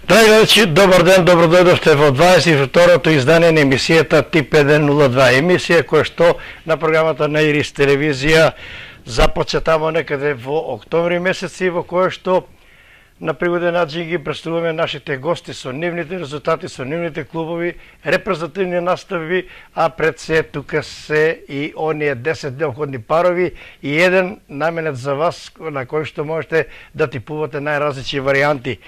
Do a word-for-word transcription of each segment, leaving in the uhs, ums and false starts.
Драги гледачи, добар ден, добро дојдовте во дваесет и второто издание на емисијата Тип еден нула два, емисија која што на програмата на Ирис телевизија започна тамо некаде во октомври месец и во која што на пригоден начин ги представуваме нашите гости со нивните резултати, со нивните клубови, репрезентативни настави, а пред се тука се и оние десет неопходни парови и еден наменет за вас на кој што можете да типувате најразлични варијанти.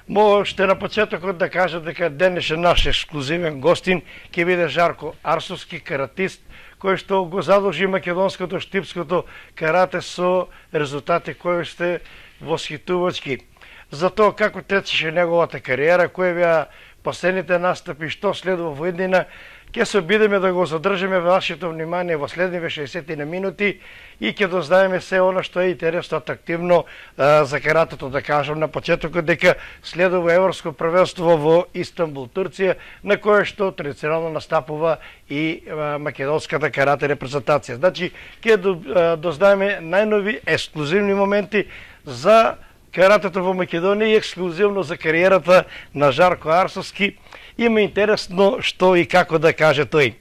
Мо ще на почетокот да кажа дека денешен наш ексклузивен гостин ќе биде Жарко Арсовски, каратист, кој што го задолжи македонското штипското карате со резултати кои сте восхитувачки. За тоа како течеше неговата кариера, кои беа последните настапи, што следува во иднина, ќе се обидеме да го задржиме вашето внимание во следниве шеесет минути и ќе дознаеме се она што е интересно, атрактивно а, за каратето. Да кажам на почетокот дека следува Европско првенство во Истанбул, Турција, на кое што традиционално настапува и а, македонската карате репрезентација. Значи, ќе до, а, дознаеме најнови ексклузивни моменти за каратето во Македонија и ексклузивно за кариерата на Жарко Арсовски. Има интересно што и како да каже тој.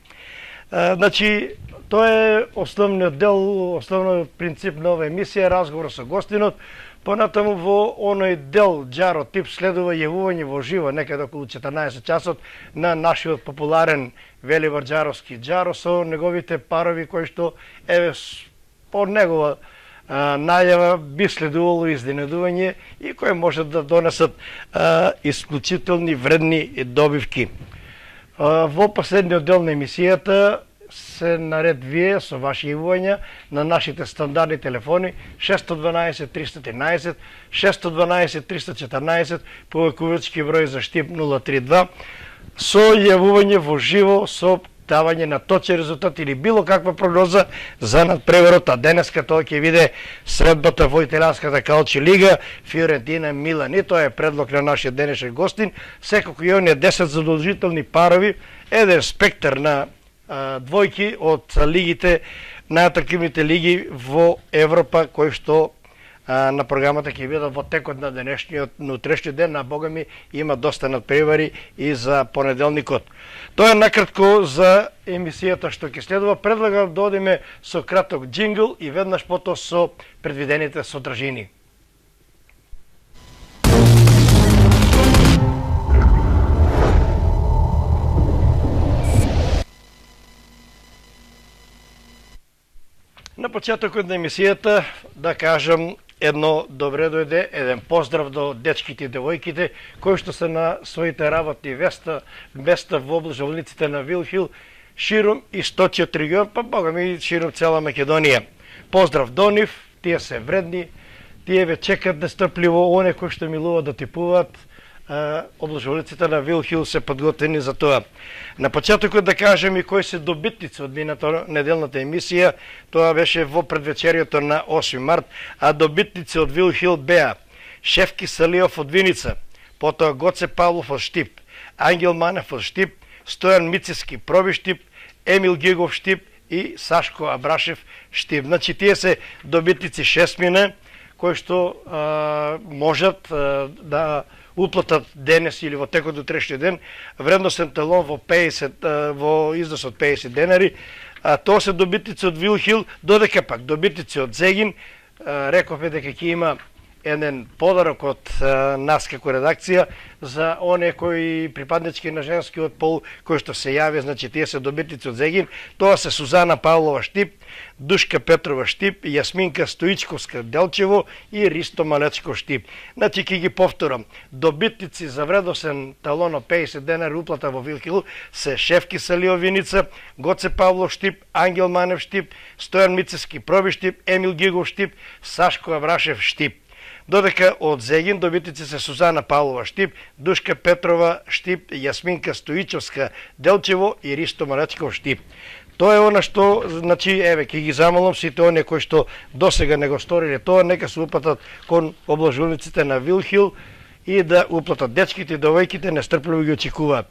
А, значи, тоа е основниот дел, основниот принцип на оваа емисија, разговор со гостинот. Понатаму во оној дел Джаро Тип следува јавување во живо некаде околу четрнаесет часот на нашиот популарен Велибар Джаровски Джаро со неговите парови кои што еве по негова А, најава би следувало изненадување и кои може да донесат а, исклучителни вредни добивки. А, во последниот дел на емисијата се наред вие со ваши јавувања на нашите стандардни телефони шест едно два триста тринаесет, шест едно два триста четрнаесет, повикувачки број за Штип нула три два, со јавување во живо со давање на точен резултат или било каква прогноза за надпреварот, а денеска тоа ќе биде средбата во италијанската калчи лига Фиорентина Милан. И тоа е предлог на нашиот денешен гостин. Секако и оние десет задолжителни парови, еден спектар на а, двојки од лигите, најатрактивните лиги во Европа, кои што а, на програмата ќе бидат во текот на денешниот, на утрешниот ден, на Бога ми има доста надпревари и за понеделникот. Тоа е накратко за емисијата што ќе следува. Предлагам да одиме со краток джингл и веднаш потоа со предвидените содржини. На почетокот на емисијата да кажам едно добре дојде, еден поздрав до дечките и девојките кои што се на своите работни места, места во облажувалниците на Вилхил, широм источниот регион, па бога ми широм цела Македонија. Поздрав до нив, тие се вредни, тие ве чекат нестрпливо, оне кои што милуваат да типуваат, облажувалниците на Вилхил се подготвени за тоа. На почетокот да кажем и кои се добитници од мината неделната емисија, тоа беше во предвечерието на осми март, а добитници од Вилхил беа Шефки Салиов од Виница, потоа Гоце Павлов од Штип, Ангел Манев од Штип, Стојан Мицевски Проби Штип, Емил Гигов Штип и Сашко Абрашев Штип. Значи тие се добитници шестмина кои што а, можат а, да уплатат денес или во текот до утрешниот ден вредносен талон во пеесет во износ од пеесет денари. А тоа се добитници од Вилхил, додека пак добитници од Зегин, рековме дека ќе има еден подарок од нас како редакција за оние кои припаднички на женскиот пол кои што се јави, значи тие се добитници од Зегин. Тоа се Сузана Павлова Штип, Душка Петрова Штип, Јасминка Стоичковска Делчево и Ристо Малечко Штип. Значи ќе ги повторам. Добитници за вредосен талон од пеесет денари уплата во Вилхил се Шефки Салиов Виница, Гоце Павлов Штип, Ангел Манев Штип, Стојан Мицевски Проби Штип, Емил Гигов Штип, Сашко Абрашев Штип. Додека од Зегин добитници се Сузана Павлова Штип, Душка Петрова Штип, Јасминка Стоичовска Делчево и Ристо Малечков Штип. Тоа е она што, значи, еве, ќе ги замолам сите оние кои што досега не го сториле тоа, нека се упатат кон облажувалниците на Вилхил и да уплатат. Дечките и девојките нестрпливо ги очекуваат.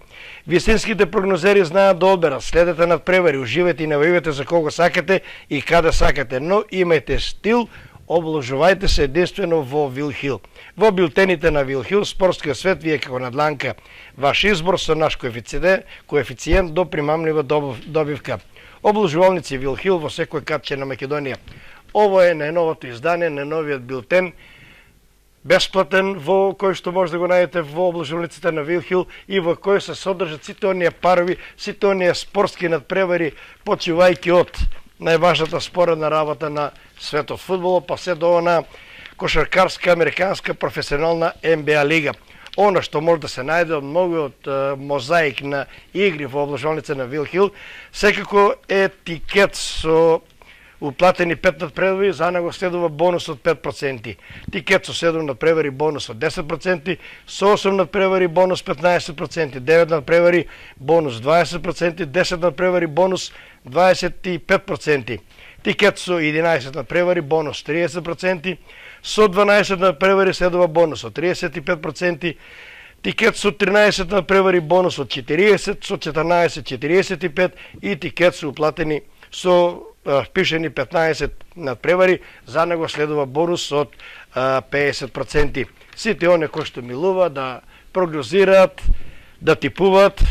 Вистинските прогнозери знаат да одберат, следете надпревари, уживајте и навојувате за кого сакате и каде сакате, но имајте стил, обложувајте се единствено во Вилхил. Во билтените на Вилхил, спортскиот свет, вие како надланка, ваш избор со наш коефициент, коефициент до примамлива добивка. Обложувалници Вилхил во секој катче на Македонија. Ово е најновото издание на новиот билтен, бесплатен, во кој што може да го најдете во обложувалниците на Вилхил и во кој се содржат сите оние парови, сите оние спортски надпревари, почивајќи од најважната споредна работа на светот фудбал, па се до она кошаркарска, американска, професионална Н Б А лига. Оно што може да се најде од многу од мозаик на игри во обложувалница на Вилхил, секако е тикет со уплатени пет надпревари, за него следува бонус од пет проценти. Тикет со седум надпревари, бонус од десет проценти, со осум надпревари, бонус петнаесет проценти, девет надпревари, бонус дваесет проценти, десет надпревари, бонус дваесет и пет проценти. Тикет со единаесет надпревари, бонус триесет проценти, со дванаесет надпревари следува бонус од триесет и пет проценти, тикет со тринаесет надпревари, бонус од четириесет, со четрнаесет четириесет и пет и тикет со уплатени со впишени петнаесет надпревари, за него следува бонус од педесет проценти. Сите оние кои што милува да прогнозираат, да типуваат,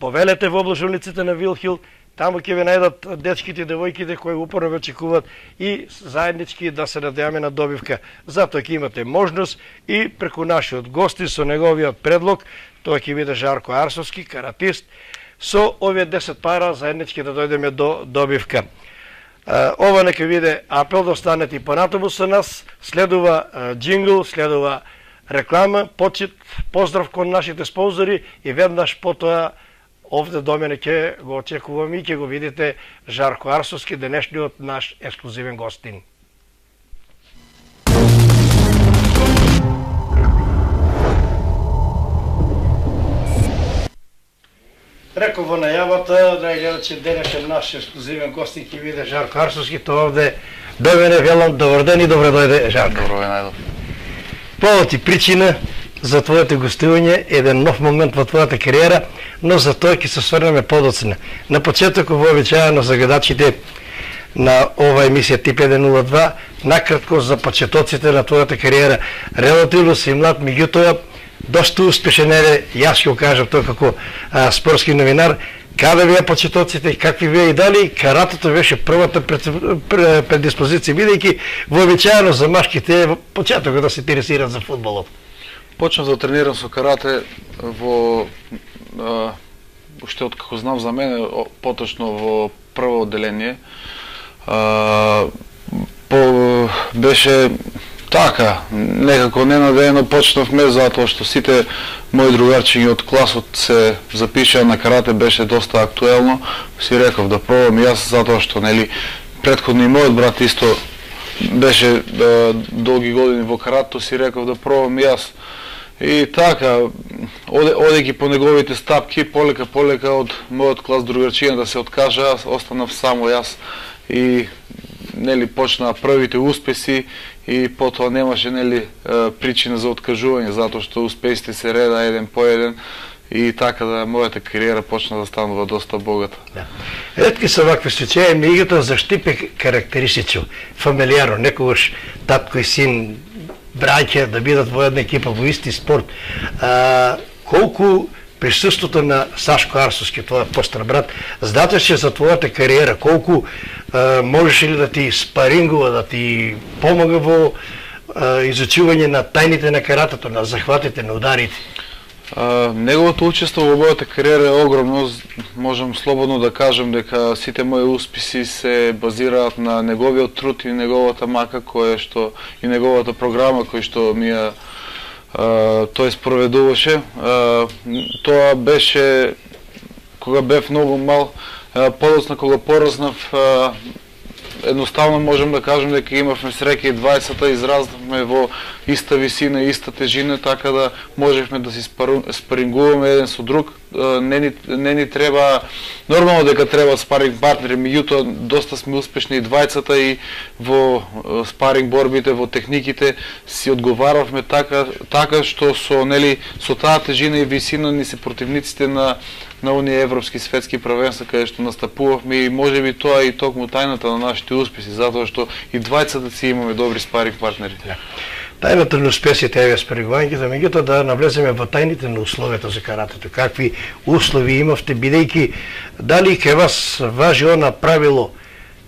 повелете во обложувалниците на Вилхил, таму ќе ве најдат дечките и девојките кои упорно ве очекуваат и заеднички да се надеваме на добивка. Затоа ќе имате можност и преку нашиот гости со неговиот предлог, тоа ќе биде Жарко Арсовски, каратист, со овие десет пара заеднички да дојдеме до добивка. Ова нека биде апел да останете и понатаму со нас. Следува джингл, следува реклама, почит, поздрав кон нашите спонзори и веднаш потоа овде до мене ќе го очекувам и ќе го видите Жарко Арсовски, денешниот наш ексклузивен гостин. Реков во најавата, да гледачи, денешен наш ексклузивен гостин ќе биде Жарко Арсовски, тоа овде до мене велам добар ден и добре дојде Жарко. Добро ве најдов. Повод и причина за твоето гостување, еден нов момент во твојата кариера, но за тоа ќе се сврнеме подоцна. На почетокот вообичаено за гледачите на ова емисија Тип еден нула два, накратко за почетоците на твојата кариера. Релативно си млад, меѓутоа доста успешен е, јас ќе го кажам тоа како а, спортски новинар, каде вие почетоците, какви вие и дали, каратото беше првата предиспозиција, бидејќи вообичаено за машките почетокот да се интересираат за фудбалот. Почнав да тренирам со карате во а, уште од како знам за мене, поточно во прво одделение. А, по, беше така, некако ненадејано почнавме, затоа што сите мои другарчиња од класот се запишаа на карате, беше доста актуелно. Си реков да пробам и јас, затоа што нели претходно и мојот брат исто беше да, долги години во каратето, си реков да пробам и јас. И така, оде, одејќи по неговите стапки, полека полека од мојот клас другарчиња да се откажа, јас останав само јас и нели почнаа првите успеси и потоа немаше нели причина за откажување, затоа што успесите се реда еден по еден и така да мојата кариера почна да станува доста богата. Да. Ретки се вакви случаи, меѓутоа за Штипе карактеристично, фамилијарно, некогаш татко и син, браќа да бидат во една екипа во исти спорт. А, колку присуството на Сашко Арсовски, твојот постар брат, значеше за твојата кариера, колку а, можеше ли да ти спарингува, да ти помага во а, изучување на тајните на каратето, на захватите, на ударите? А, неговото учество во мојата кариера е огромно, можам слободно да кажам дека сите мои успеси се базираат на неговиот труд и неговата мака која што и неговата програма која што ми ја тој спроведуваше. А, тоа беше кога бев многу мал, а, подоцна кога пораснав, а, едноставно можам да кажам дека имавме среќа и дваесетта израснав бевме во иста висина, иста тежина, така да можевме да си спарингуваме еден со друг. Не ни, не ни треба, нормално дека треба спаринг партнери, меѓутоа доста сме успешни и двајцата и во спаринг борбите, во техниките си одговаравме така, така што со, нели, со таа тежина и висина ни се противниците на на оние европски светски првенства каде што настапувавме и можеби тоа и токму тајната на нашите успеси, затоа што и двајцата си имаме добри спаринг партнери. Тајната на успесите е спаринувањето, меѓутоа да навлеземе во тајните на условията за каратето. Какви услови имавте, бидејќи дали ке вас важи она правило,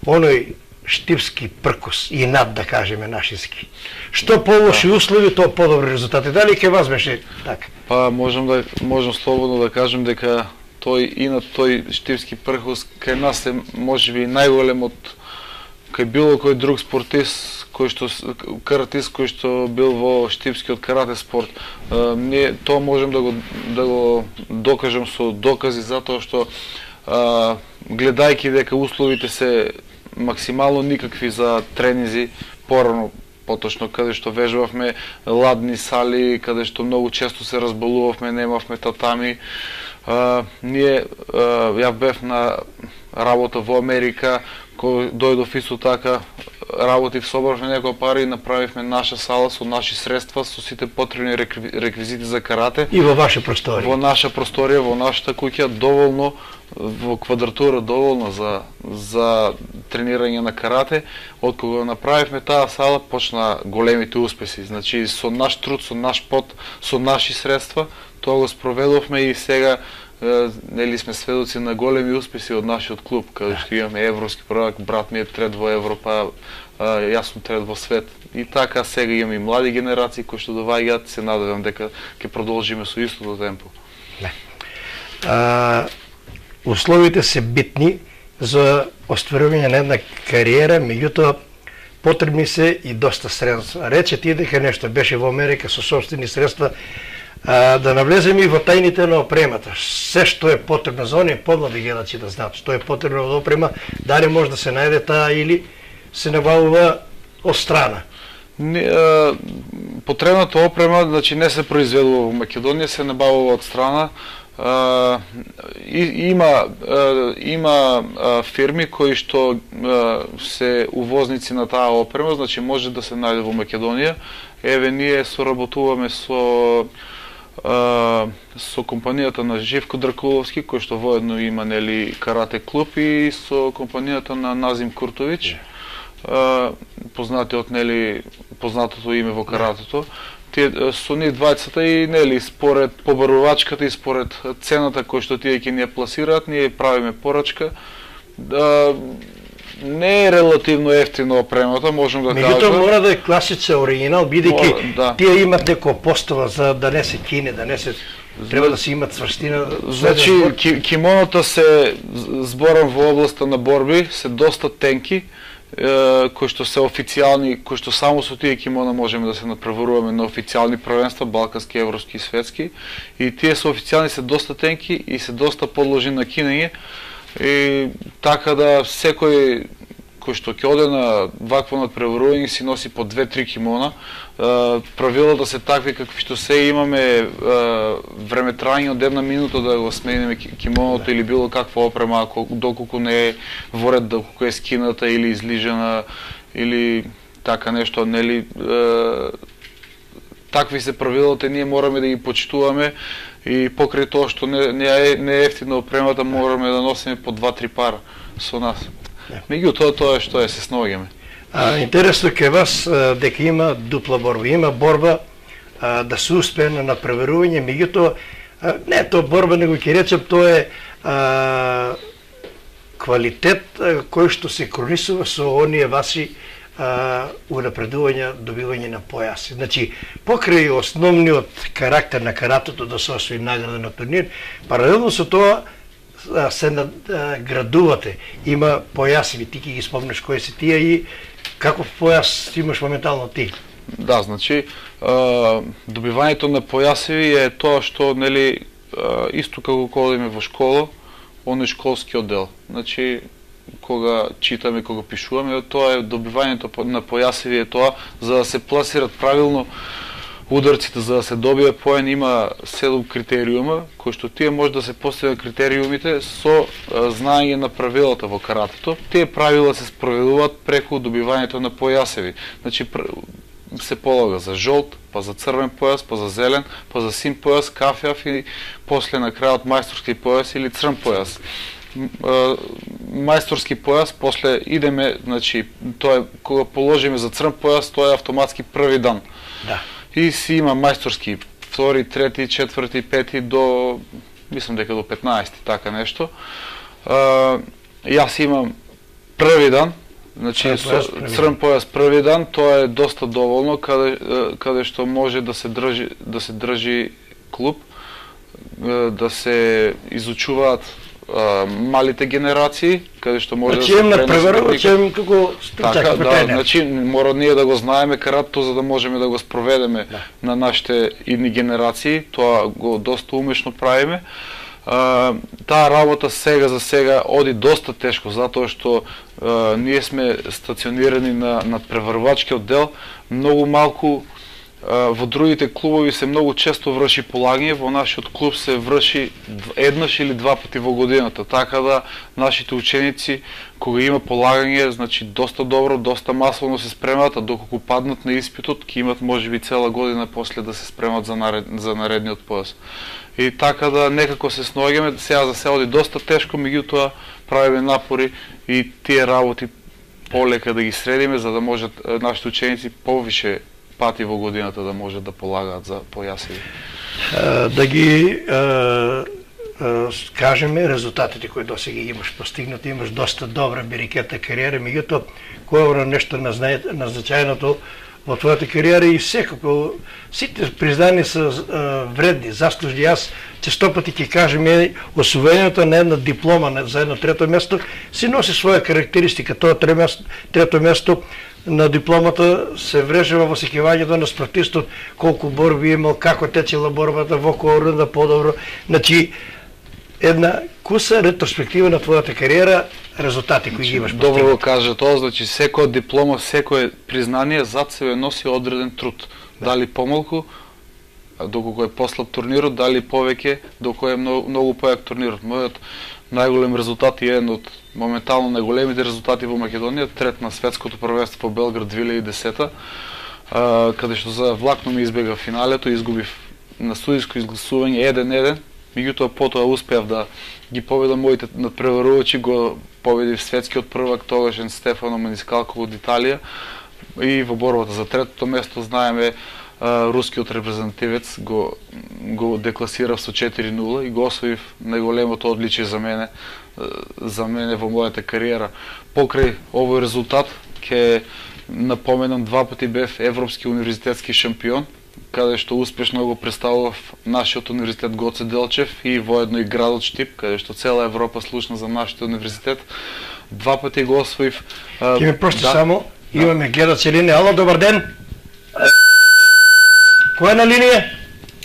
оној штипски пркус и над, да кажеме нашиски. Што полоши услови, тоа подобри резултати. Дали ке вас беше така? Па можам да можам слободно да кажем дека тој и на тој штипски пркус кај нас е можеби најголем од кај било кој друг спортист кој што каратист кој што бил во штипскиот карате спорт. Uh, не тоа можем да го да го докажам со докази затоа што uh, гледајќи дека условите се максимално никакви за тренинзи порано, поточно каде што вежбавме ладни сали, каде што многу често се разболувавме, немавме татами. Uh, ние uh, ја бев на работа во Америка, кој дојдов исто така, работив, собравме некоја пари и направивме наша сала со наши средства, со сите потребни реквизити за карате. И во ваша просторија? Во наша просторија, во нашата куќа, доволно, во квадратура доволно за, за тренирање на карате. Од кога направивме таа сала, почна големите успеси. Значи, со наш труд, со наш пот, со наши средства, тоа го спроведовме и сега нели сме сведоци на големи успеси од нашиот клуб, каде што имаме европски првак, брат ми е трет во Европа, јас сум трет во свет. И така сега имаме и млади генерации кои што доваѓаат, се надевам дека ќе продолжиме со истото темпо. А, условите се битни за остварување на една кариера, меѓутоа потребни се и доста средства. Рече ти дека нешто беше во Америка со собствени средства. А, да навлеземе и во тајните на опремата. Се што е потребно за оние помлади гледачи да знаат што е потребно за опрема, дали може да се најде таа или се набавува од страна. Не, а, потребната опрема, значи не се произведува во Македонија, се набавува од страна. А, и, има а, има а, фирми кои што а, се увозници на таа опрема, значи може да се најде во Македонија. Еве ние соработуваме со Uh, со компанијата на Живко Дракуловски, кој што воедно има нели карате клуб, и со компанијата на Назим Куртович, uh, познатиот нели познатото име во каратето. Тие со нив двајцата и нели според побарувачката и според цената кој што тие ќе ни ја пласираат, ние правиме порачка. Uh, Не е релативно ефтино опремата, можам да кажам. Меѓутоа мора да е класичен оригинал, бидејќи да. Тие имат некоја постава за да не се кине, да не се треба да се имат цврстина. Значи ки, кимоната се, зборам во областа на борби, се доста тенки, е, кои што се официјални, кои што само со тие кимона можеме да се надпреваруваме на официјални првенства, балкански, европски и светски, и тие се официјални, се доста тенки и се доста подложени на кинење. И така да секој кој што ќе оде на вакво надпреварување си носи по две-три кимона. Правилата се такви какви што се имаме времетрање од една минута да го смениме кимоното или било каква опрема, доколку не е во ред, доколку е скината или излижена или така нешто, нели такви се правилата, ние мораме да ги почитуваме. И покрај тоа што не, не, е, не е ефтина опремата, мораме да носиме по два-три пара со нас. Меѓутоа тоа е што е, се снаоѓаме. Интересно ке вас дека има дупла борба. Има борба а, да се успее на надпреварување, меѓутоа не е тоа борба, него ќе речем тоа е а, квалитет а, кој што се кронисува со оние ваши унапредување, добивање на појаси. Значи, покрај основниот карактер на каратето да се освои награда на турнир, паралелно со тоа се градувате. Има појаси, ти ќе ги спомнеш кои се тие и каков појас имаш моментално ти? Да, значи, добивањето на појасеви е тоа што, нели, исто како кога одиме во школа, оној школски оддел. Значи, кога читаме, кога пишуваме, тоа е добивањето на појасеви, е тоа за да се пласират правилно ударците, за да се добие поен, има седум критериума, кои што тие може да се постигнат критериумите со знаење на правилата во каратето. Тие правила се спроведуваат преку добивањето на појасеви. Значи се полага за жолт, па за црвен појас, па за зелен, па за син појас, кафјав и после на крајот мајсторски појас или црн појас. Мајсторски појас, после идеме, значи, тоа е, кога положиме за црн појас, тоа е автоматски први дан. Да. И си има мајсторски втори, трети, четврти, пети до, мислам дека до петнаесети, така нешто. А, јас имам први дан, значи црн појас први дан, тоа е доста доволно, каде, каде што може да се држи, да се држи клуб, да се изучуваат Uh, малите генерации, каде што може значи, да се пренесе. Значи, им како така, да, значи, мора ние да го знаеме каратето за да можеме да го спроведеме да. На нашите идни генерации, тоа го доста умешно правиме. Uh, таа работа сега за сега оди доста тешко, затоа што uh, ние сме стационирани на, на преварувачкиот дел, многу малку. Во другите клубови се многу често врши полагање, во нашиот клуб се врши еднаш или два пати во годината, така да нашите ученици кога има полагање, значи доста добро, доста масовно се спремаат, а доколку паднат на испитот, ќе имат можеби цела година после да се спремат за, наред, за наредниот појас. И така да некако се сноѓаме, сега за се оди доста тешко, меѓутоа правиме напори и тие работи полека да ги средиме, за да можат нашите ученици повише пати во годината да можат да полагаат за појасеви. Да ги а, а, кажеме резултатите кои досега имаш постигнати, имаш доста добра берикета кариера, меѓутоа кој е нешто назначајното во твојата кариера и секако сите признани се вредни, заслужни. Јас често пати ќе кажем освоењето на една диплома за едно трето место си носи своја карактеристика. Тоа трето место на дипломата се врежува во сеќавањето на спортистот, колку борби имал, како течела борбата, во кој рунда подобро. Значи, една куса ретроспектива на твојата кариера, резултати кои ги имаш постигнати. Добро го кажа тоа, значи секоја диплома, секое признание зад себе носи одреден труд. Да. Дали помалку, доколку е послаб турнирот, дали повеќе, доколку е многу, многу појак турнирот. Мојот најголем резултат и еден од моментално најголемите резултати во Македонија, трет на светското првенство во Белград две илјади и десета, каде што за влакно ми избега финалето, изгубив на судиско изгласување еден еден, меѓутоа потоа успеав да ги победам моите надпреварувачи, го победив светскиот првак тогашен Стефано Манискалко од Италија и во борбата за третото место знаеме рускиот репрезентативец го го декласирав со четири нула и го освоив најголемото одличие за мене за мене во мојата кариера. Покрај овој резултат ќе напоменам два пати бев европски универзитетски шампион, каде што успешно го представував нашиот универзитет Гоце Делчев и воедно и градот Штип, каде што цела Европа слушна за нашиот универзитет. Два пати го освоив. Ќе ми прости да, само, да. Имаме гледач линија. Ало, добар ден. Кој е на линија?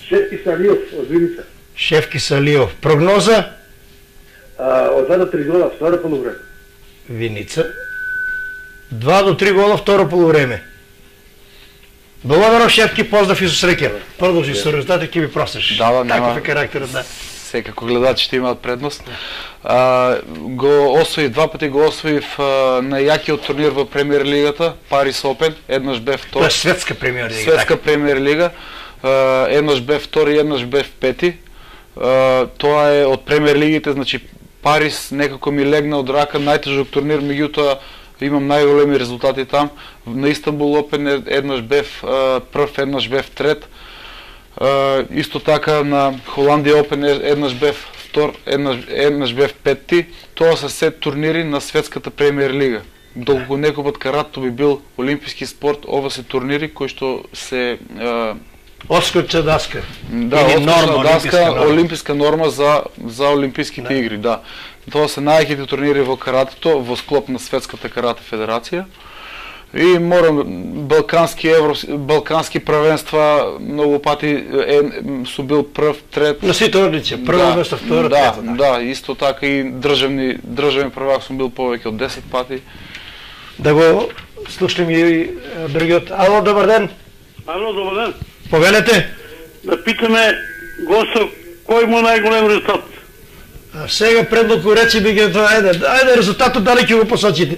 Шефки Салиов од Виница. Шефки Салиов. Прогноза? А, од два до три гола второ полувреме. Виница. два до три гола второ полувреме. Благодарам, Шефки, поздрав и со среќа. Продолжи со резултатот, ќе ми простиш. Да, да, таков е карактерот, да. Секако гледачите имаат предност. А, го освоив, два пати го освоив а, на јакиот турнир во Премиер лигата, Парис Опен, еднаш бев втор. Тоа е светска Премиер лига. Светска така. Премиер лига, а, еднаш бев втор и еднаш бев пети. А, тоа е од Премиер лигите, значи Парис некако ми легна од рака, најтежок турнир, меѓутоа имам најголеми резултати там. На Истанбул Опен еднаш бев а, прв, еднаш бев трет. Uh, исто така на Холандија Опен еднаш бев втор, еднаш, еднаш бев петти. Тоа се се турнири на светската Премиер лига. Доколку некој пат каратето би бил олимписки спорт, ова се турнири кои што се uh, Отскочна даска. Да, отскочна даска, норма. Олимписка норма за за олимписките да. игри, да. Тоа се најаките турнири во каратето во склоп на светската карате федерација. И морам балкански евро балкански првенства многу пати е, су бил прв, трет. На сите одлици, прво да, место, второ, да, трето. Да, исто така и државни државен првак сум бил повеќе од десет пати. Да го слушнем и другиот. Ало, добар ден. Ало, добар ден. Повелете. Да питаме гостов кој му најголем резултат? А сега предлог речи би ги тоа, ајде, ајде резултатот дали ќе го посочите?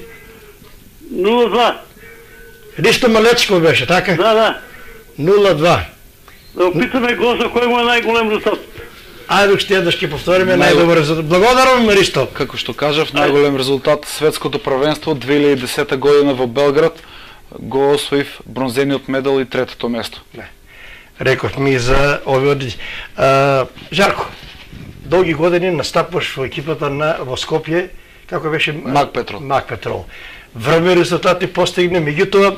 нула два. Ристо Малечко беше, така? Да, да. нула два. Да го питаме гостов кој му е најголем резултат? Ајде уште еднаш ќе повториме Нај- најдобар резултат. Благодарам, Ристо. Како што кажав, најголем резултат светското првенство две илјади и десета година во Белград го освоив бронзениот медал и третото место. Реков ми за овие одлици. А, Жарко, долги години настапуваш во екипата на во Скопје, како беше Мак Петрол. Мак Петрол. Врвни резултати постигне, меѓутоа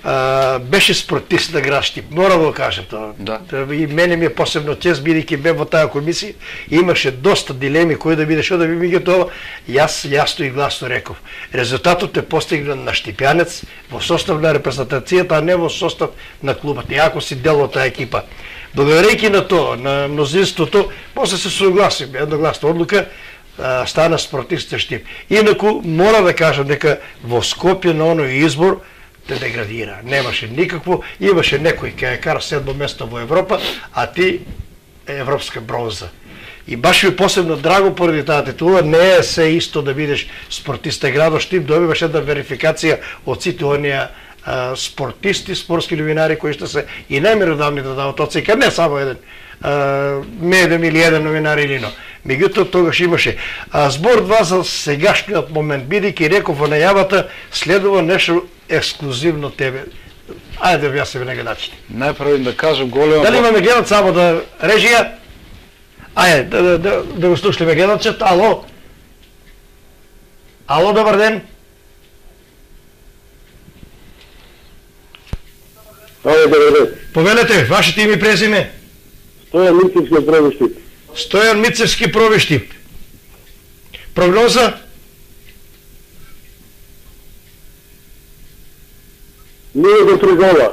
а, беше спортист на град Штип. Мора да го кажам тоа. Да. И мене ми е посебно чест, бидејќи бев во таа комисија, имаше доста дилеми кој да биде, што да би, меѓутоа јас јасно и гласно реков. Резултатот е постигнат на Штипјанец во состав на репрезентацијата, а не во состав на клубот. Иако си дел од таа екипа. Благодарејќи на тоа, на мнозинството, после се согласиме, едногласна одлука, а, стана спортист Штип. Инаку мора да кажам дека во Скопје на оној избор те деградира. Немаше никакво, имаше некој кај кара седмо место во Европа, а ти европска бронза. И баш ми посебно драго поради таа титула, не е се исто да бидеш спортист градот Штип, добиваш една верификација од сите оние а, спортисти, спортски новинари кои што се и најмеродавни да дават оценка, не само еден а, медем или еден новинар или но. Меѓутоа тогаш имаше. А, збор два за сегашниот момент, бидејќи реков во најавата, следува нешто ексклузивно тебе. Ајде да објаснеме на гледачите. Најпрво да кажам голема Дали имаме гледач само да режија? Ајде, да, да, да, да го слушаме гледачот. Ало? Ало, добар ден. Ало, добар ден. Повелете, вашето име и презиме? Стојан Мицевски Пробишти. Стојан Мицевски Пробишти. Прогноза? нула до три гола.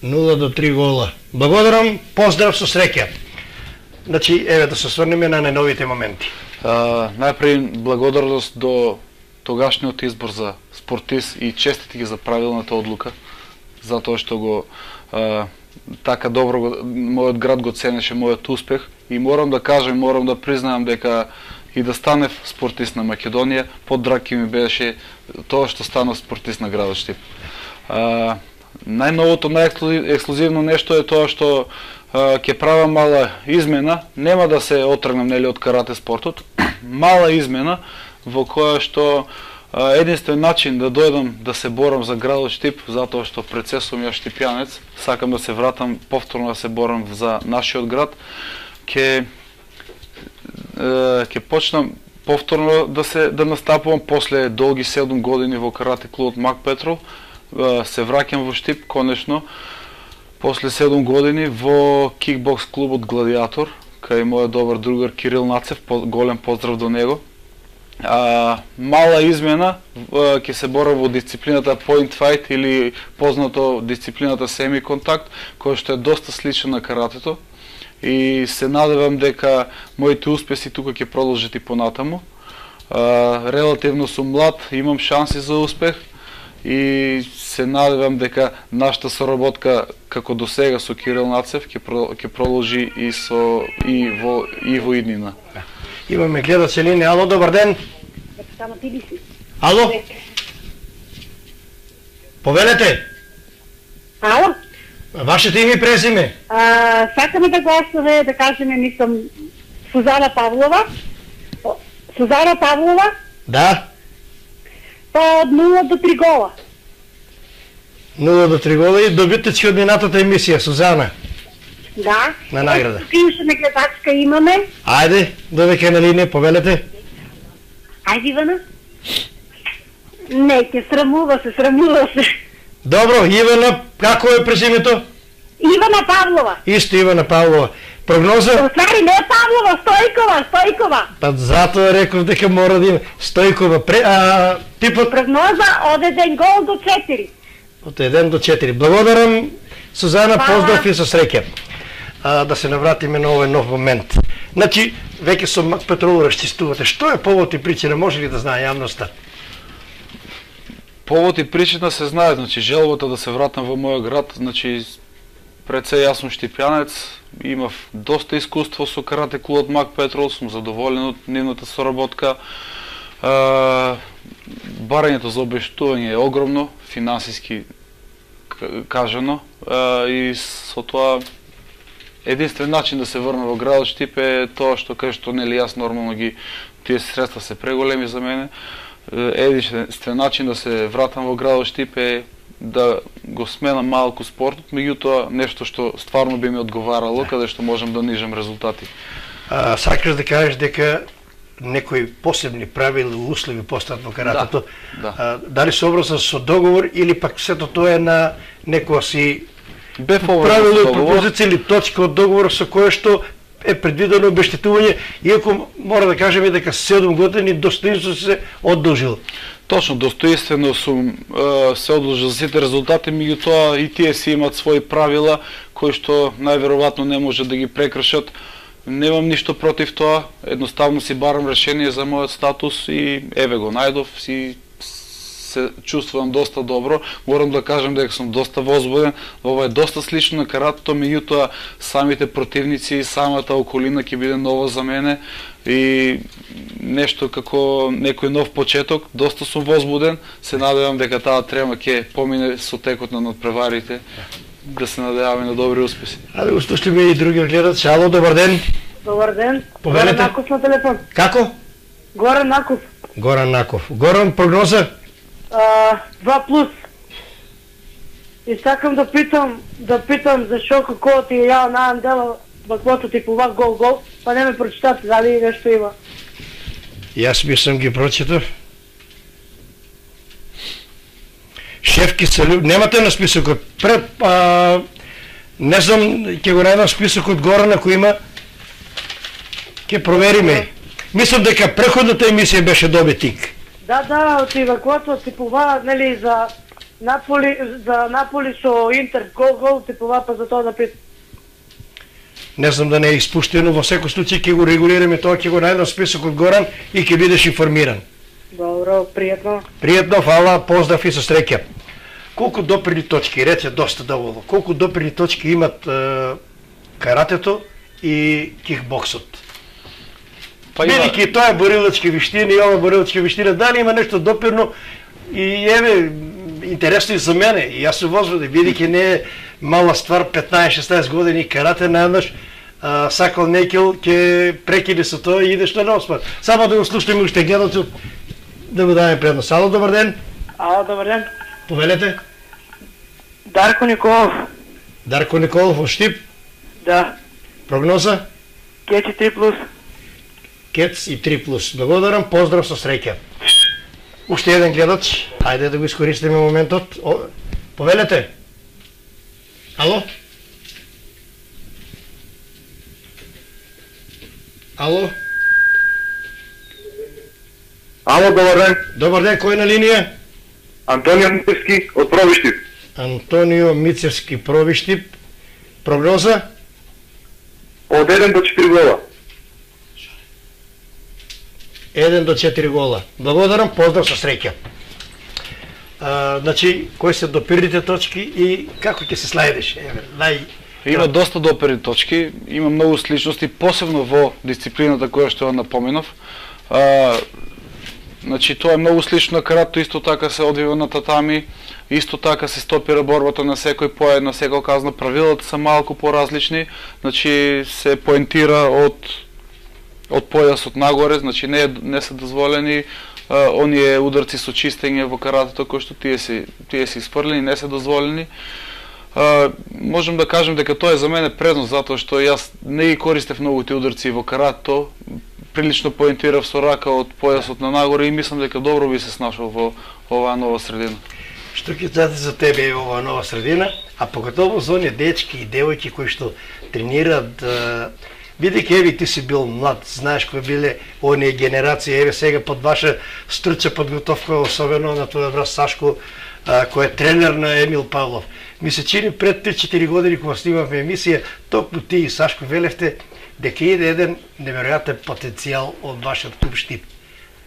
нула до три гола. Благодарам, поздрав со среќа. Значи, еве да се сврнеме на најновите моменти. А, најпред благодарност до тогашниот избор за спортист и честити ги за правилната одлука, затоа што го а, така добро го, мојот град го ценеше мојот успех и морам да кажам, морам да признаам дека и да станев спортист на Македонија, подраг ќе ми беше тоа што станав спортист на градот Штип. А, најновото, најексклузивно нешто е тоа што а, ќе правам мала измена, нема да се отргнам нели од карате спортот, мала измена во која што а, единствен начин да дојдам да се борам за градот Штип, затоа што пред се сум ја штипјанец, сакам да се вратам повторно да се борам за нашиот град, ќе ќе почнам повторно да се да настапувам после долги седум години во карате клубот Мак Петрол, се враќам во Штип конечно после седум години во кикбокс клубот Гладиатор, кај мојот добар другар Кирил Нацев, голем поздрав до него. А, мала измена, ќе се борам во дисциплината Point Fight или познато дисциплината Semi Contact, која што е доста слична на каратето. И се надевам дека моите успеси тука ќе продолжат и понатаму. А, релативно сум млад, имам шанси за успех и се надевам дека нашата соработка како до сега со Кирил Нацев ќе ќе продолжи и со и во и во иднина. Имаме гледач линија. Ало, добар ден. Само ти ли си? Ало? Повелете. Ало? Вашето име и презиме? А, сакаме да гласуваме, да кажеме, мислам, Сузана Павлова. О, Сузана Павлова, Да. па од нула до три гола. нула до три гола и добитечки од минатата емисија, Сузана. Да. На награда. Тук имаше нагледачка имаме. Ајде, довеќе на линија, повелете. Ајде, Ивана. Не, ќе срамува се, срамува се. Добро, Ивана, како е презимето? Ивана Павлова. Исто Ивана Павлова. Прогноза? Ствари не Павлова, Стојкова, Стојкова. Па затоа реков дека мора да има Стојкова. Пре, а, типот? Прогноза од еден гол до четири. Од еден до четири. Благодарам, Сузана, Хвала. поздрав и со среќа. А, да се навратиме на овој нов момент. Значи, веќе со Мак Петрол расчистувате. Што е повод и причина, може ли да знае јавноста? Повод и причина се знае, значи желбата да се вратам во мојот град, значи пред се јас сум штипјанец, имав доста искуство со карате клубот Мак Петрол, сум задоволен од нивната соработка. Uh, барањето за обештување е огромно, финансиски кажано, uh, и со тоа единствен начин да се врна во градот Штип е тоа што кај што нели јас нормално ги тие средства се преголеми за мене. Единствен начин да се вратам во градот Штип е да го сменам малку спортот, меѓутоа нешто што стварно би ми одговарало, каде што можам да нижам резултати. А, сакаш да кажеш дека некои посебни правила, услови постат во каратето, Да, да. А, дали сообразно со договор или пак сето тоа е на некоја си Бев правило и договор. пропозиција или точка од договор со кое што е предвидено обештетување, иако мора да кажеме дека седум години достоинство се одолжило. Точно, достоинствено сум е, се одложил за сите резултати, меѓутоа и тие си имаат своји правила кои што најверојатно не може да ги прекршат. Немам ништо против тоа, едноставно си барам решение за мојот статус и еве го најдов, си се чувствувам доста добро. Морам да кажам дека сум доста возбуден, ова е доста слично на каратето, меѓутоа самите противници и самата околина ќе биде нова за мене и нешто како некој нов почеток, доста сум возбуден, се надевам дека таа трема ќе помине со текот на надпреварите, да се надеваме на добри успеси. Аде го слушаме и други гледач. Ало, добар ден. Добар ден. Повелете. Горан Наков на телефон. Како? Горан Наков. Горан Наков. Горан, прогноза? А, два плюс. И сакам да питам, да питам зашо како ти ја најам дела баквото типува гол гол, па не ме прочитате дали нешто има. Јас би сам ги прочитав. Шефки се люб... Немате на списокот. Пред, а, не знам, ќе го најдам списокот горе на кој има. Ќе провериме. Мислам дека преходната емисија беше добитник. Да, да, од баквото типува, нели, за Наполи, за Наполи со Интер гол гол типува, па за тоа да питам. Не знам да не е испуштено, во секој случај ќе го регулираме тоа, ќе го најдам списокот Горан и ќе бидеш информиран. Добро, пријатно. Пријатно, фала, поздрав и со среќа. Колку допирни точки, рече доста доволно, колку допирни точки имат е, каратето и кикбоксот? Па Бидејќи тоа е борилачки виштина и ова борилачки виштина, дали има нешто допирно и еве, интересно и за мене, и јас се возбуден, бидејќи не е мала ствар, петнаесет-шеснаесет години карате, најнаш сакал некил ќе прекине со тоа и идеш на нов спорт. Само да го слушаме уште гледачот, да му дадеме предност. Ало, добар ден. Ало, добар ден. Повелете. Дарко Николов. Дарко Николов во Штип. Да. Прогноза? Кечи три плюс. Кец и три плюс. Благодарам, поздрав со среќа. Уште еден гледач. Ајде да го искористиме моментот. О, повелете. Ало? Ало? Ало, добар ден. Добар ден, кој на линија? Антонио Мицевски од Провиштип. Антонио Мицевски, Провиштип. Прогноза? Од еден до четири гола. еден до четири гола. Благодарам, поздрав со среќа. А, значи, кои се допирните точки и како ќе се следиш? Еве, нај... Има доста допирни точки, има многу сличности, посебно во дисциплината која што ја напоменав. А, значи, тоа е многу слично на каратето, исто така се одвива на татами, исто така се стопира борбата на секој поед, на секој казна, правилата се малку поразлични, значи се поентира од од појасот нагоре, значи не, не се дозволени а, оние ударци со чистење во каратето кои што тие се тие се испрлени, не се дозволени. А, можам да кажам дека тоа е за мене предност, затоа што јас не ги користев многу тие ударци во каратето, прилично поентирав со рака од појасот на нагоре и мислам дека добро би се снашол во оваа нова средина. што ќе дадат за тебе ова нова средина, а поготово за оние дечки и девојки кои што тренираат, бидејќи еве ти си бил млад, знаеш кои биле оние генерации, еве сега под ваша струча подготовка, особено на твојот брат Сашко, кој е тренер на Емил Павлов. Ми се чини пред три-четири години кога снимавме емисија, токму ти и Сашко велевте дека иде еден неверојатен потенцијал од вашиот клуб Штип.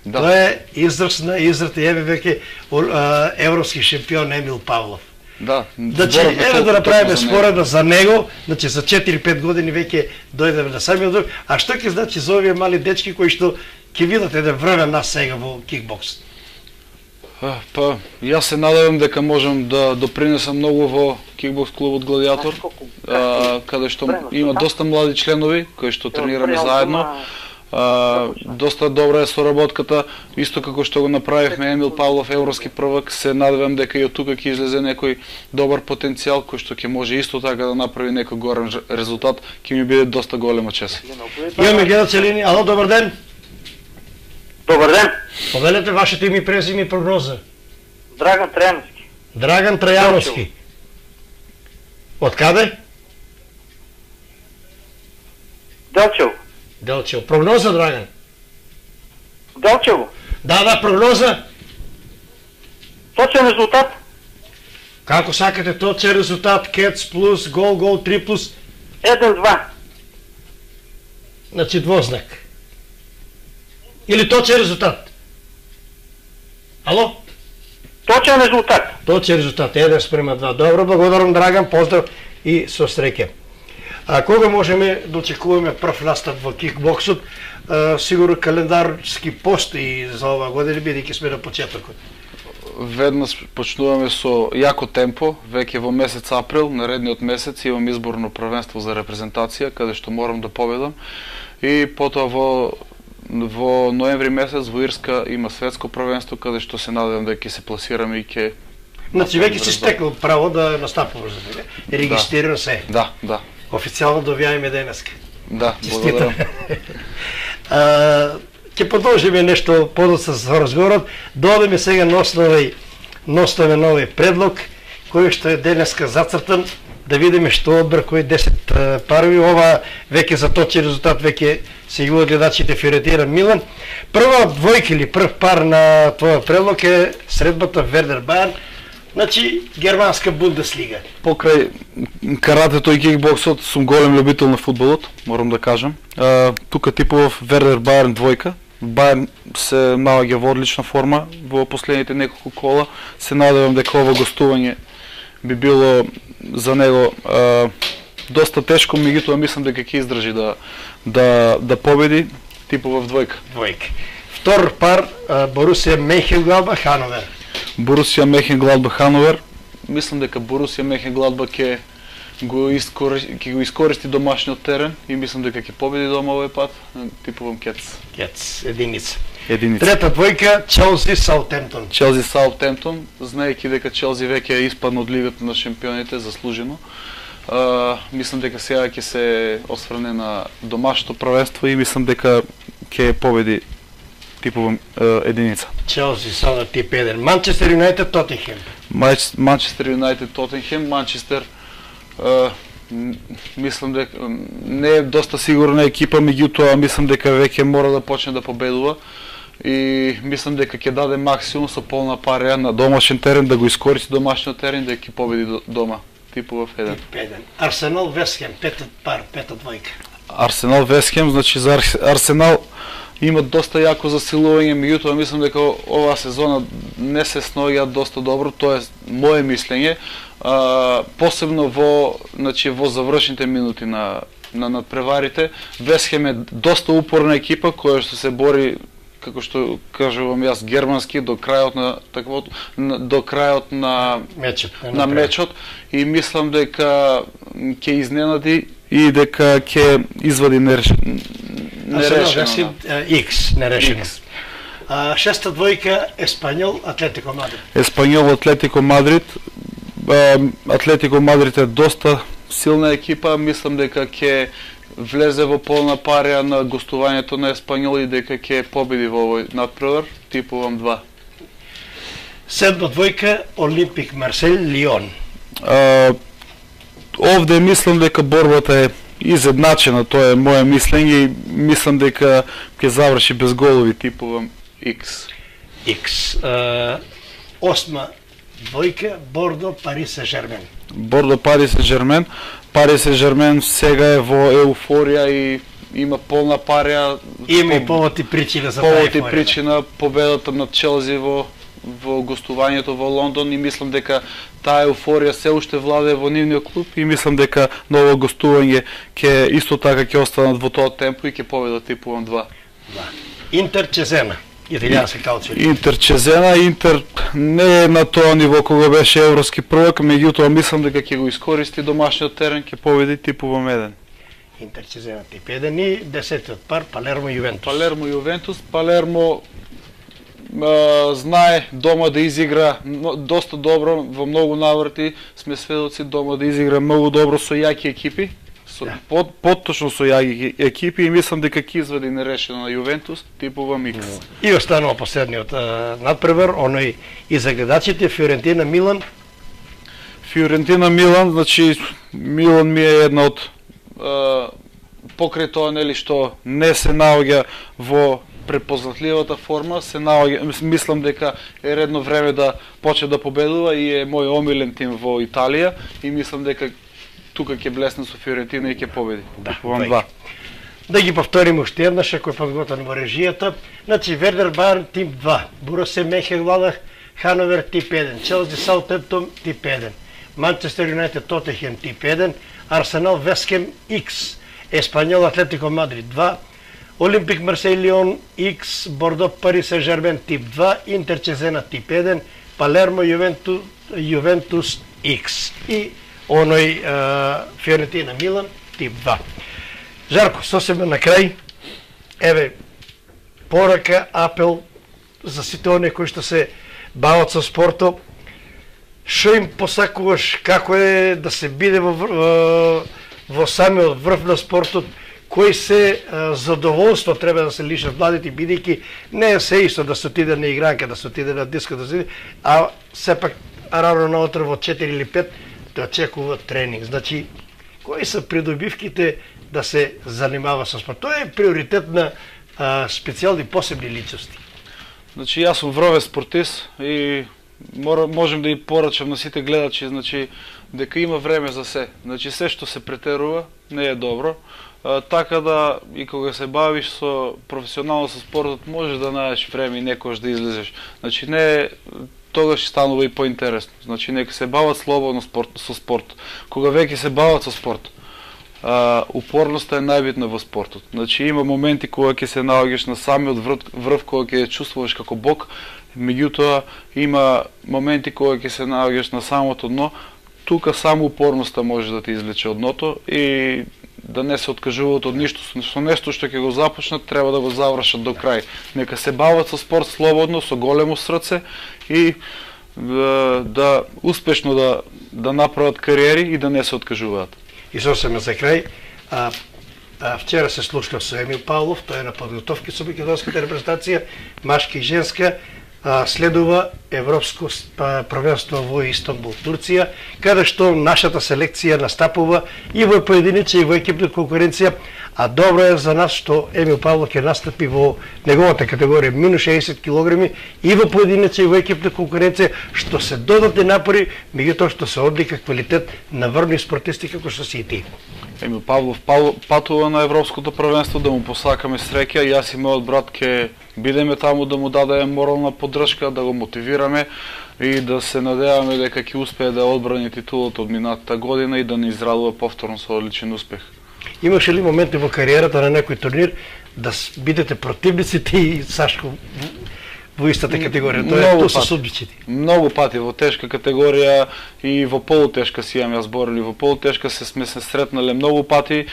Да. Тоа е израз на израз, еве веќе европски шампион Емил Павлов. Да. Значи, еве да направиме споредба за него, значи за четири-пет години веќе дојдеме на самиот друг, а што ќе значи за овие мали дечки кои што ќе видат еден време нас сега во кикбокс? Па, јас се надевам дека можам да допринесам многу во кикбокс клубот Гладиатор, а, каде што има доста млади членови кои што тренираме заедно. А, доста добра е соработката, исто како што го направивме Емил Павлов европски првак, се надевам дека и од тука ќе излезе некој добар потенцијал кој што ќе може исто така да направи некој горен резултат, ќе ми биде доста голема чест. Имаме гледачи линија. Ало, добар ден. Добар ден. Повелете вашето име, презиме и прогноза. Драган Трајановски. Драган Трајановски. Од каде? Делчево. Делчево. Прогноза, Драган? Делчево. Да, да, прогноза. Точен резултат? Како сакате точен резултат? Кец плюс, гол, гол, три плюс? еден-два. Значи двознак. Или точен резултат? Ало? Точен резултат. Точен резултат, еден спрема два. Добро, благодарам, Драган, поздрав и со среќа. А кога можеме да очекуваме прв настап во кикбоксот? А, сигурно календарски постои за ова година, бидејќи сме на почетокот. Веднаш почнуваме со јако темпо, веќе во месец април, наредниот месец имам изборно првенство за репрезентација, каде што морам да победам. И потоа во во ноември месец во Ирска има светско првенство, каде што се надевам дека ќе се пласираме и ќе... Значи веќе си стекол право да настапуваш за тебе. Регистрирано да. Се. Да, да. Официјално добијаме денеска. Да, благодарам. Ќе продолжиме нешто подоцна со разговорот. Доодеме сега на основај ноставе нови предлог кој што е денеска зацртан, да видиме што одбор кои десет парови. Ова веќе за точен резултат веќе се јавуваат гледачите Фиоретина Милан. Прва двојка или прв пар на твојот предлог е средбата Вердер Бајерн. Значи, германска Бундеслига. Покрај каратето и кикбоксот сум голем љубител на фудбалот, морам да кажам. А, тука типов Вердер Бајерн двојка. Бајерн се наоѓа во одлична форма во последните неколку кола. Се надевам дека ова гостување би било за него а, доста тешко, меѓутоа мислам дека ќе издржи да да да победи типов двојка. Двојка. Втор пар Борусија Менхенгладбах Хановер. Борусија Менхенгладбах Хановер. Мислам дека Борусија Менхенгладбах ќе го искористи, ќе го искористи домашниот терен и мислам дека ќе победи дома овој пат, типовам Кец. Кец, единица. Единица. Трета двојка Челси Саутемптон. Челси Саутемптон, знаејќи дека Челси веќе е испадна од Лигата на шампионите заслужено. Uh, мислам дека сега ќе се осврне на домашното првенство и мислам дека ќе победи типовам uh, единица. Челси са на тип еден. Манчестер Юнајтед Тотенхем. Манчестер Юнајтед Тотенхем, Манчестер uh, мислам дека не е доста сигурна екипа, меѓутоа мислам дека веќе мора да почне да победува и мислам дека ќе даде максимум со полна парија на домашен терен, да го искористи домашниот терен, да ќе победи дома. Типов еден. Тип еден. Арсенал Вестхем, пета пар, пета двојка. Арсенал Вестхем, значи за Арсенал има доста јако засилување, меѓутоа мислам дека оваа сезона не се сноѓа доста добро, тоа е мое мислење, а, посебно во, значи во завршните минути на на надпреварите. Вестхем е доста упорна екипа која што се бори, како што кажувам јас, германски до крајот на таквото, до крајот на мечот, на мечот и мислам дека ќе изненади и дека ќе извади нерешено. Нерешено. Икс, нерешено. А, шеста двојка Еспањол Атлетико Мадрид. Еспањол Атлетико Мадрид. Атлетико Мадрид е доста силна екипа, мислам дека ќе влезе во полна парија на гостувањето на Еспањол и дека ќе победи во овој надпревар, типувам два. Седма двојка Олимпик Марсель Лион. А, овде мислам дека борбата е изедначена, тоа е моје мислење и мислам дека ќе заврши без голови, типувам X. X. А, осма двојка Бордо Пари Сен-Жермен. Бордо Пари Сен-Жермен. Пари Сен-Жермен сега е во еуфорија и има полна парија. Има и повод и причина за таа повод и еуфорија. причина победата над Челси во во гостувањето во Лондон и мислам дека таа еуфорија се уште владее во нивниот клуб и мислам дека ново гостување ќе исто така ќе останат во тоа темпо и ќе победат, типувам два. Да. Интер Чезена. Италијански калчо. Интер Чезена, Интер не е на тоа ниво кога беше европски првак, меѓутоа мислам дека ќе го искористи домашниот терен, ќе победи, типувам еден. Интер Чезена тип еден и десетиот пар Палермо Јувентус. Палермо Јувентус, Палермо а, знае дома да изигра доста добро, во многу наврати сме сведоци дома да изигра многу добро со јаки екипи, со, да. под, подточно со јаки екипи и мислам дека ќе извади нерешено на Јувентус, типувам X. И останува последниот а, надпревар, оној и за гледачите Фиорентина Милан. Фиорентина Милан, значи Милан ми е една од а, покрај тоа нели што не се наоѓа во препознатливата форма, се наоѓа, мислам дека е редно време да почне да победува и е мој омилен тим во Италија и мислам дека тука ќе блесне со Фиорентина и ќе победи. Да, два. Да ги повториме уште еднаш, ако е подготвен во режијата. Значи Вердер Бајерн тип два, Борусе Менхенгладбах Хановер тип еден, Челси Саутемптон тип еден, Манчестер Юнайтед Тотенхем тип еден, Арсенал Вестхем X, Еспаньол Атлетико Мадрид два, Олимпик Марсель Лион X, Бордо Пари Сен-Жермен тип два, Интер Чезена тип еден, Палермо Јувентус, Јувентус X и оној Фиорентина Милан тип два. Жарко, сосема на крај, еве порака, апел за сите оние кои што се бават со спортот, што им посакуваш, како е да се биде во, во, во самиот врв на спортот, кои се а, задоволство треба да се лишат младите, бидејќи не е се исто да се отиде на игранка, да се отиде на диско, да се, а сепак рано наутро во четири или пет да очекува тренинг. Значи, кои се придобивките да се занимава со спорт? Тоа е приоритет на а, специјални посебни личности. Значи, јас сум вровен спортист и мора, можем да и порачам на сите гледачи, значи, дека има време за се. Значи, се што се претерува не е добро. А, така да, и кога се бавиш со професионално со спортот, можеш да најдеш време и некојаш да излезеш. Значи, не тогаш станува и поинтересно. Значи, нека се бават слободно спорт, со спорт. Кога веќе се бават со спорт, а, упорноста е најбитна во спортот. Значи, има моменти кога ќе се наоѓаш на самиот врв, врв кога ќе чувствуваш како бог, меѓутоа има моменти кога ќе се наоѓаш на самото дно, тука само упорноста може да те извлече од дното и да не се откажуваат од ништо, со нешто што ќе го започнат, треба да го завршат до крај. Нека се бават со спорт слободно, со големо срце и да, да успешно да, да направат кариери и да не се откажуваат. И сосема за крај, а, а, вчера се слушнав со Емил Павлов, тој е на подготовки со македонската репрезентација, машка и женска, а, следува Европско првенство во Истанбул, Турција, каде што нашата селекција настапува и во поединечна и во екипна конкуренција, а добро е за нас што Емил Павлов ќе настапи во неговата категорија минус шеесет килограми и во поединечна и во екипна конкуренција, што се додатни напори, меѓутоа што се одлика квалитет на врвни спортисти како што си и ти. Емил Павлов патува на Европското првенство, да му посакаме среќа. Јас и мојот брат ќе бидеме таму да му дадеме морална поддршка, да го мотивираме и да се надеваме дека ќе успее да одбрани титулата од минатата година и да не израдува повторно со одличен успех. Имаше ли моменти во кариерата на некој турнир да бидете противници ти и Сашко во истата категорија? Тоа е тоа со судбичите. Многу пати во тешка категорија и во полутешка си имам јас борили. Во полутешка се сме се сретнале многу пати.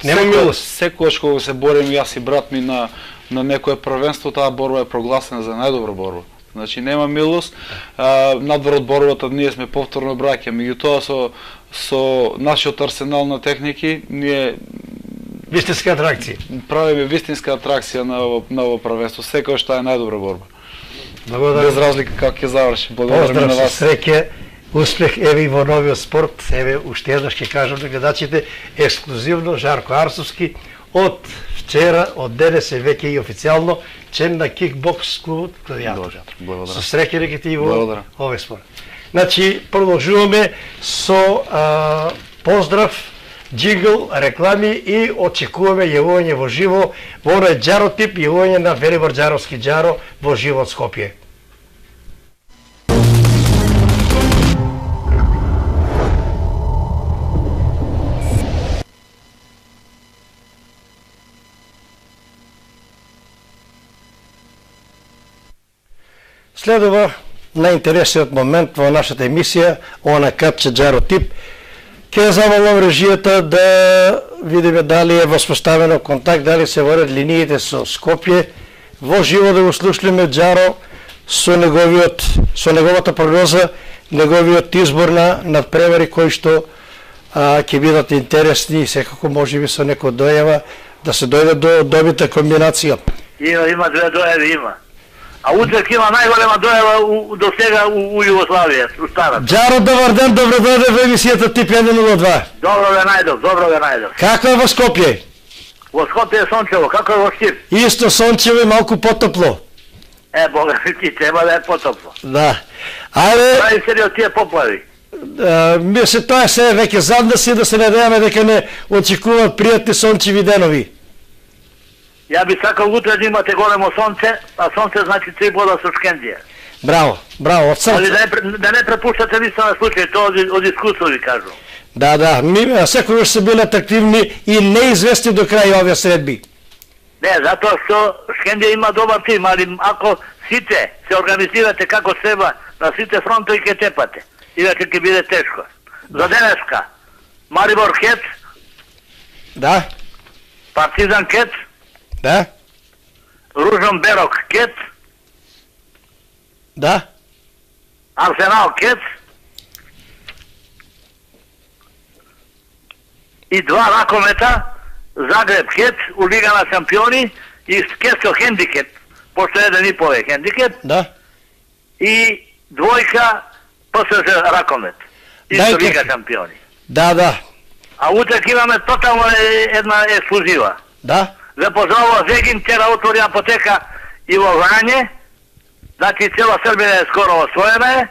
Нема милост. Секогаш кога се борим јас и брат ми на на некое првенство, таа борба е прогласена за најдобра борба. Значи нема милост. А, надвор од борбата ние сме повторно браќа, меѓутоа со со нашиот арсенал на техники ние вистинска атракција. Правиме вистинска атракција на ово, на ово првенство. Секогаш таа е најдобра борба. Благодарам. Без разлика како ќе заврши. Благодарам на Поздрав, вас. среќа, успех, еве и во новиот спорт, еве уште еднаш ќе кажам на гледачите, ексклузивно Жарко Арсовски од вчера, од денес е веќе и официјално член на кикбокс клубот Гладијатор. Благодарам. Со среќа дека ти во Благодарам. овој спорт. Значи, продолжуваме со а, поздрав, джингл, реклами и очекуваме јавување во живо во оној џаротип, јавување на Велибор Џаровски џаро во живо од Скопје. Следува најинтересниот момент во нашата емисија, она капче џаро тип. Ке замолам режијата да видиме дали е воспоставено контакт, дали се водат линиите со Скопје. Во живо да го слушнеме џаро со неговиот со неговата прогноза, неговиот избор на надпревари кои што а, ќе бидат интересни и секако можеби со некој дојава да се дојде до добита комбинација. Има, има две дојави, има. А утрек има најголема дојава у, до сега у, у Југославија, у старата. Џаро, добар ден, добро дојде во емисијата Тип еден нула два. Добро ве најдов, добро ве најдов. Како е во Скопје? Во Скопје е сончево, како е во Штип? Исто сончево и малку потопло. Е, бога ми ти, треба да е потопло. Да. Ајде, Прави се ли од тие поплави? а, мисли тоа се веќе задна си да се надеваме дека не очекуваат пријатни сончеви денови. Ја би сакал утре да имате големо сонце, а сонце значи три бода со Шкендија. Браво, браво, од Али срце. да не, пр- да не препуштате нищо на случај, тоа од, од искуство ви кажу. Да, да, ми секогаш се биле атрактивни и неизвестни до крај овие средби. Не, затоа што Шкендија има добар тим, али ако сите се организирате како треба, на сите фронтови ќе тепате. Инаке ќе биде тешко. За денеска, Марибор Кет, Да, Партизан Кет, да, Ружон Берок Кет, да, Арсенал Кет и два ракомета, Загреб Кет у Лига на шампиони и Кет со хендикеп, пошто еден и по е хендикеп, да. и двојка ПСЖ ракомет, исто Дај Лига како. шампиони. Да, да, А утрек имаме тотално е- една ексклузива. да. Ве поздравува Зегин, вчера отвори апотека и во Врање, значи цела Србија е скоро освоена е,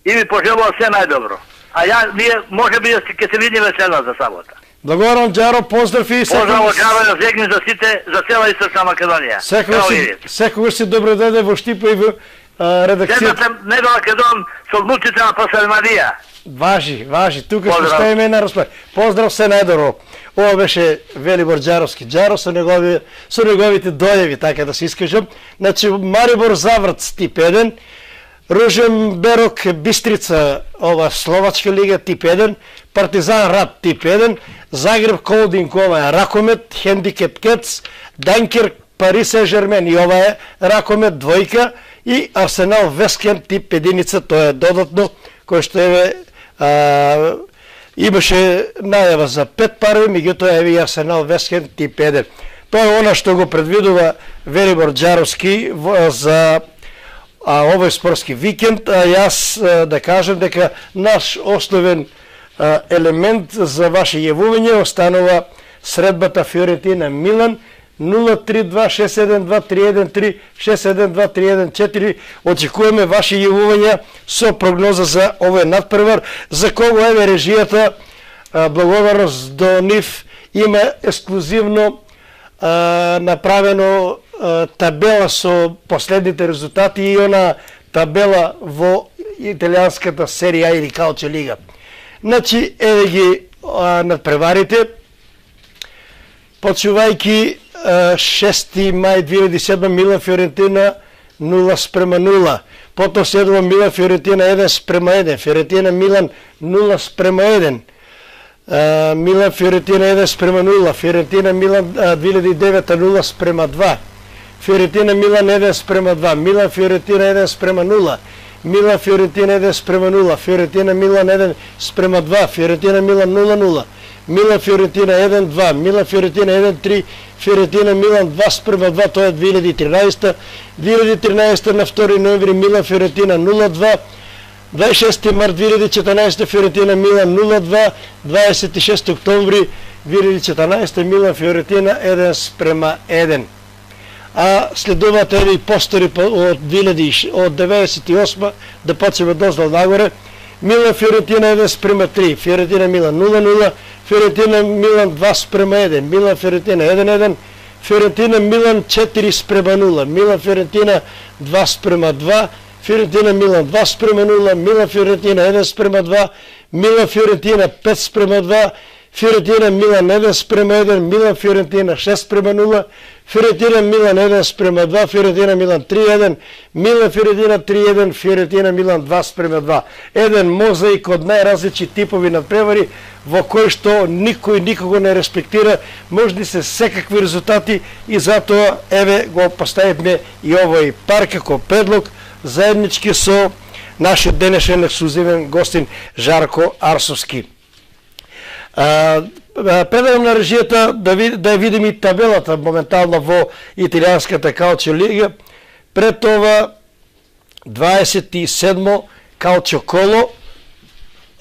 и ви пожелува се најдобро. А ја, ние, може би, ќе се видиме следната сабота. Благодарам, Џаро, поздрав и Поздрав од Џаро Зегин за сите, за цела Источна Македонија. Секогаш Ево си, видите. секогаш си добро дојде во Штипа и во а, редакцијата. Следната недела ќе дом со внуците на Пасел Марија. Важи, важи, тука што Поздрав. стоиме на разпад. Поздрав се најдобро. Ова беше Велибор Џаровски џаро со негови со неговите дојави, така да се искажам. Значи Марибор Заврц тип еден, Ружен Берок Бистрица, ова Словачка лига тип еден, Партизан Рад тип еден, Загреб Колдинг, ова е ракомет, Хендикеп Кец, Данкер Пари Сен-Жермен и ова е ракомет двојка и Арсенал Вескен тип единица, тоа е додатно кој што е а, имаше најава за пет пари, меѓутоа еве и Арсенал Вескен тип еден. Тоа е она што го предвидува Велибор Џаровски во- за а, овој спортски викенд. А, јас а, да кажам дека наш основен а, елемент за ваше јавување останува средбата Фиорентина Милан нула три два шест седем два три еден три шест седем два три еден четири. Очекуваме ваше јавувања со прогноза за овој надпревар, за кого еве режијата, а, благодарност до нив, има ексклузивно а, направено а, табела со последните резултати и она табела во италијанската серија или Калче лига. Значи, еве ги а, надпреварите, почувајќи шести мај две илјади и седма Милан Фиорентина нула спрема нула. Потоа следува Милан Фиорентина еден спрема еден, Фиорентина Милан нула спрема еден. А, Милан Фиорентина еден спрема нула, Фиорентина Милан а, две илјади и девета нула спрема два. Фиорентина Милан еден спрема два, Милан Фиорентина еден спрема нула. Милан Фиорентина еден спрема нула, Фиорентина Милан еден спрема два, Фиорентина Милан нула нула. Милан Фиорентина еден два, Милан Фиорентина еден три, Фиорентина Милан два спрема два, тоа е две илјади и тринаесетта. две илјади и тринаесетта на втори ноември Милан Фиорентина нула два, дваесет и шести март две илјади и четрнаесетта Фиорентина Милан нула два, дваесет и шести октомври две илјади и четрнаесетта Милан Фиорентина еден спрема еден. А следуваат еве и постори од од деветдесет и осма да почнеме доздол нагоре. Милан Фиорентина еден спрема три, Фиорентина Милан нула нула, Фиорентина Милан два спрема еден, Милан Фиорентина еден еден, Фиорентина Милан четири спрема нула, Милан Фиорентина два спрема два, Фиорентина Милан два спрема нула, Милан Фиорентина еден спрема два, Милан Фиорентина пет спрема два, Фиорентина Милан еден спрема еден, Милан Фиорентина шест спрема нула, Фиорентина Милан еден спрема два, Фиорентина Милан три еден, Милан Фиорентина три еден, Фиорентина Милан два спрема два. Еден мозаик од најразлични типови надпревари во кој што никој никого не респектира, можни се секакви резултати и затоа еве го поставивме и овој пар како предлог заеднички со нашиот денешен ексклузивен гостин Жарко Арсовски. А, предавам на режијата да, ви, да видим и табелата моментално во италијанската Калчио лига. Пред това дваесет и седмо Калчио коло.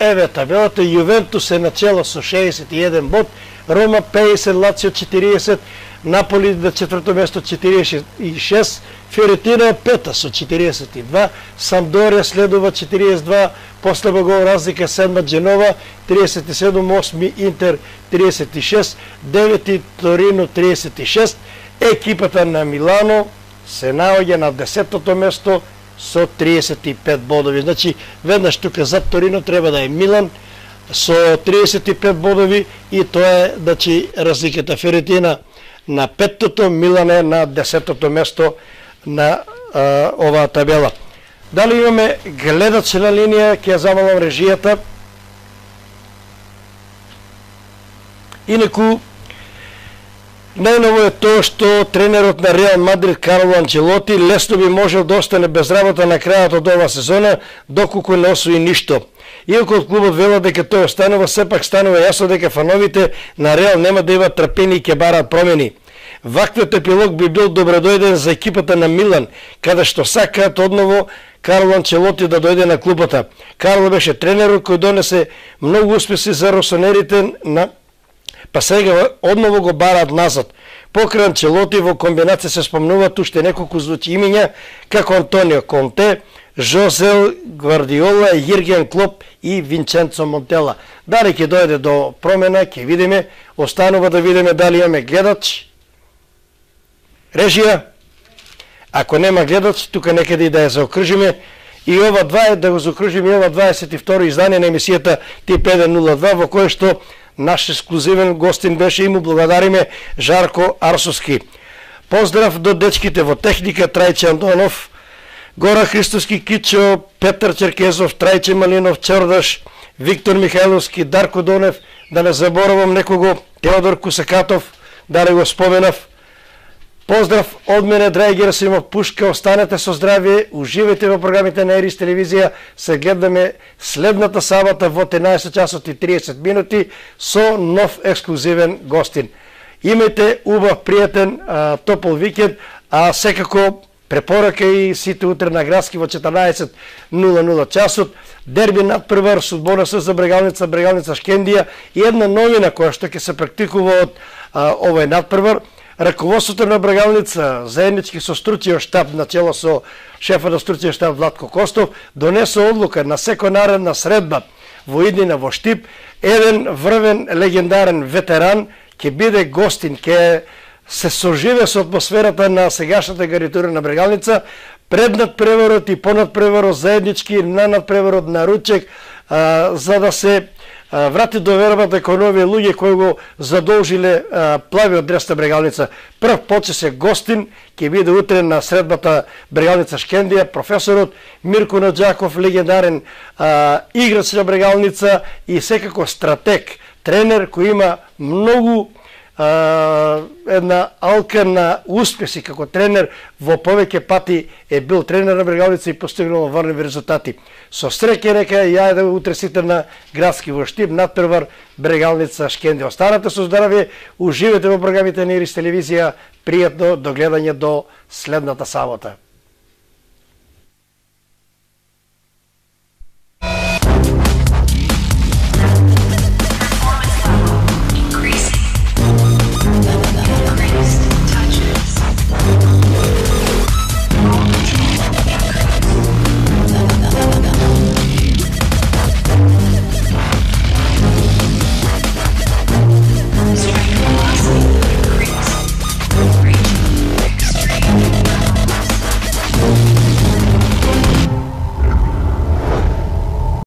Еве табелата. Јувентус е начело со шеесет и еден бод, Рома педесет, Лацио четириесет, Наполи на четврто место четириесет и шест, Фиорентина пета со четириесет и два, Самдорија следува четириесет и два, после гол разлика седма Дженова, триесет и седум, осми Интер триесет и шест, девети Торино триесет и шест, екипата на Милано се наоѓа на десетото место со триесет и пет бодови. Значи, веднаш тука зад Торино треба да е Милан со триесет и пет бодови и тоа е, значи, разликата. Фиорентина на петтото, Милан е на десетото место на а, оваа табела. Дали имаме гледач на линија, ќе ја замалам режијата. Инаку, најново е тоа што тренерот на Реал Мадрид Карло Анчелоти лесно би можел да остане без работа на крајот од оваа сезона, доколку не освои ништо. Иако од клубот велат дека тој останува, сепак станува јасно дека фановите на Реал нема да имаат трпение и ќе бараат промени. Ваквиот епилог би бил добродојден за екипата на Милан, каде што сакаат одново Карло Анчелоти да дојде на клубата. Карло беше тренерот кој донесе многу успеси за росонерите, на... па сега одново го бараат назад. Покрај Анчелоти во комбинација се спомнуваат уште неколку звучи имиња, како Антонио Конте, Жозе Гвардиола, Јирген Клоп и Винченцо Монтела. Дали ќе дојде до промена, ќе видиме. Останува да видиме дали имаме гледач. Режија, ако нема гледач, тука некаде и да ја заокружиме. И ова два е да го заокружиме, ова дваесет и второ издание на емисијата Тип еден нула два, во кој што наш ексклузивен гостин беше и му благодариме Жарко Арсовски. Поздрав до дечките во техника, Трајче Антонов, Гора Христовски, Кичо, Петар Черкезов, Трајче Малинов, Чордаш, Виктор Михајловски, Дарко Донев, да не заборавам некого, Теодор Кусакатов, да не го споменав. Поздрав од мене, драги Герасимов Пушка, останете со здравје, уживајте во програмите на Ерис телевизија, се гледаме следната сабота во тринаесет часот и триесет минути со нов ексклузивен гостин. Имајте убав, пријатен, а, топол викенд, а секако препорака и сите утре на Градски во четрнаесет нула нула часот, дерби надпревар, судбона со за Брегалница, Брегалница Шкендија и една новина која што ќе се практикува од а, овој надпревар. Раководството на Брегалница, заеднички со стручиот штаб, начело со шефа на стручиот штаб Владко Костов, донесо одлука на секоја наредна средба во иднина во Штип, еден врвен легендарен ветеран ќе биде гостин, ќе се соживе со атмосферата на сегашната гарнитура на Брегалница, пред надпреварот и по надпреварот заеднички, на надпреварот на ручек, а, за да се а, врати доверба дека овие луѓе кои го задолжиле а, плавиот дрес на Брегалница. Прв поче се гостин, ќе биде утре на средбата Брегалница Шкендија, професорот Мирко Наджаков, легендарен а, играч на Брегалница и секако стратег, тренер кој има многу а, една алка на успеси како тренер, во повеќе пати е бил тренер на Брегалница и постигнал варливи резултати. Со среќа река ја да утре сите на градски во Штип, надпревар Брегалница Шкенди. Останете со здравје, уживете во програмите на Ирис телевизија, пријатно до гледање до следната сабота.